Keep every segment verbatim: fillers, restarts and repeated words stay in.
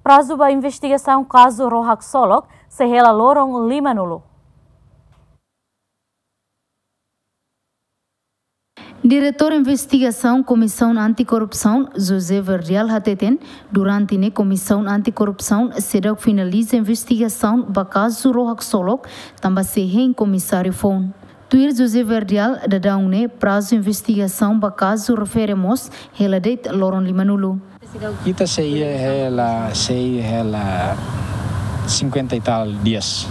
prazu ba investigasaun kazu ró haksolok sei hela loron limanulu. Diretór Investigasaun Komisaun Antikorrupsaun, José Verdial hateten, durante ne'e Komisaun Antikorrupsaun seidauk finaliza investigasaun ba kazu ró haksolok, tanba sei hein komisáriu foun. Tuir José Verdial, daudaun ne'e prazu investigasaun ba kazu refere mós hela de'it loron limanulu. Ita sei hela, sei hela cinquenta e tal dias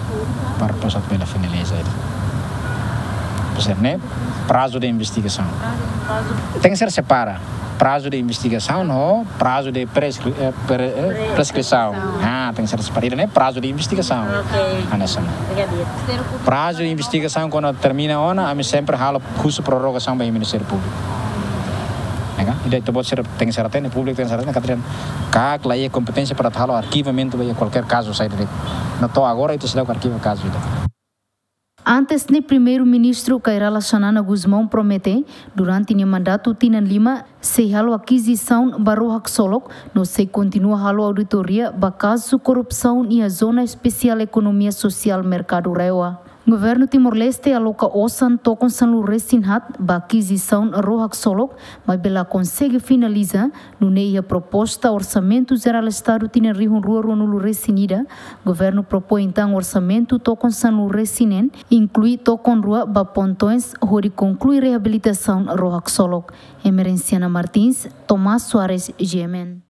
para depois atu bele finaliza. Pois é, ne'e prazu de investigasaun. Tenke ser separa. Prazu de investigasaun no prazu de preskri-, eh, pre-, eh, preskrisaun. Ah, tenke ser separa. Ne'e prazu de investigasaun. Ok. Hanesan ne'e. Prazu de investigasaun kuandu termina ona, ami sempre halo husu prorrogasaun ba Ministériu Públiku. Ya kan? Ida ita-boot sira tenke ser hatene, públiku tenke ser hatene, katak ita la iha kompeténsia para halo arkivamentu ba iha kualkér kazu saida de'it. No to'o agora ita seidauk arkiva kazu ida. Antes ne'e Primeiru-Ministru Kay Rala Xanana Gusmão promete, durante nia mandatu tinan lima, sei halo akizisaun ba ró haksolok, no sei kontinua halo auditoria ba kazu korrupsaun iha Zona Espesiál Ekonomia Sosiál Merkadu Rewa. Governu Timor-Leste aloka osan tokon sanulu-resin-haat ba akizisaun ró haksolok, maibé la konsege finaliza, nune'e iha proposta Orsamentu Jerál Estadu tinan rihun rua ruanulu-resin-ida, governu propoin tan orsamentu tokon sanulu-resin-neen, inklui tokon rua ba pontoens hodi konklui reabilitasaun ró haksolok. Emerenciana Martins, Tomás Soares, G M N.